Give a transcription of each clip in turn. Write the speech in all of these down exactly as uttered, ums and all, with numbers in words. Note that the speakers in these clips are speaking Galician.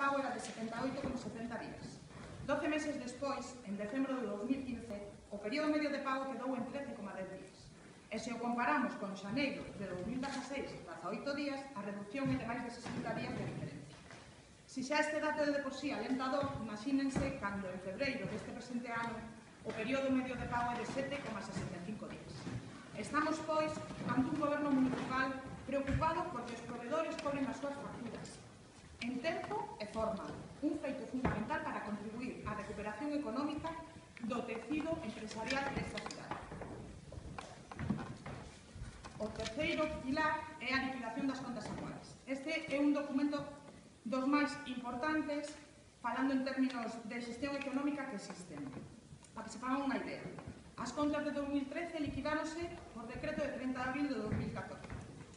pago era de setenta e oito coma setenta días. doce meses despois, en decembro de dos mil quince, o período medio de pago quedou en trece coma dez días. E se o comparamos con xaneiro de dos mil dieciséis, dezaoito días, a reducción é de máis de sesenta días de diferencia. Se xa este dato é de por sí alentador, imagínense cando en febreiro deste presente ano o período medio de pago é de sete coma sesenta e cinco días. Estamos, pois, ante un goberno municipal preocupado porque os provedores cobren as súas facturas en tempo e forma, un feito fundamental para contribuir á recuperación económica do tecido empresarial desta cidade. O terceiro pilar é a liquidación das contas anuais. Este é un documento dos máis importantes, falando en términos de xestión económica que existen. Para que se fagan unha idea, as contas de dos mil trece liquidáronse por decreto de trinta de abril de dos mil catorce.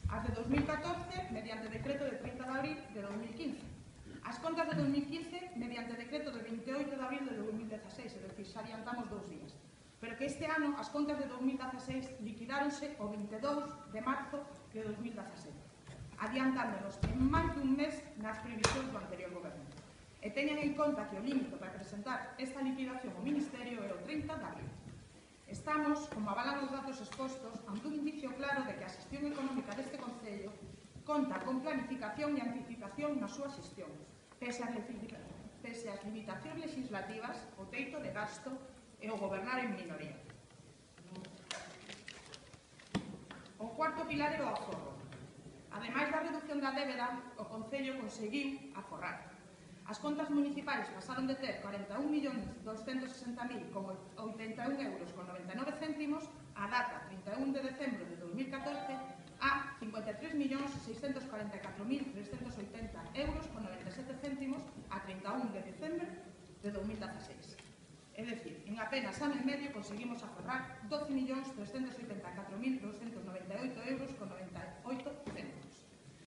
As de dos mil catorce, mediante decreto de trinta de abril de dos mil quince. As contas de dos mil quince, mediante decreto de veintioito de abril de dos mil dieciséis, é dicir, xa adiantamos dous días. Pero que este ano as contas de dos mil dieciséis liquidáronse o veintidós de marzo de dos mil diecisiete, adiantándonos en máis dun mes nas previsións do anterior goberno. E teñan en conta que o límite para presentar esta liquidación ao Ministerio é o trinta de abril. Estamos, como avalan os datos expostos, ante un indicio claro de que a xestión económica deste Concello conta con planificación e anticipación na súa xestión, pese ás limitacións legislativas, o teito de gasto e o gobernar en minoría. O cuarto pilar é o aforro. Ademais da reducción da débeda, o Concello conseguiu aforrar. As contas municipais pasaron de ter cuarenta e un millóns doscentos sesenta mil con oitenta e un euros con noventa e nove céntimos a data trinta e un de decembro de dos mil catorce a cincuenta e tres millóns seiscentos cuarenta e catro mil trescentos oitenta euros con noventa e sete céntimos a trinta e un de decembro de dos mil dieciséis. É dicir, en apenas ano e medio conseguimos aforrar doce millóns trescentos oitenta e catro mil doscentos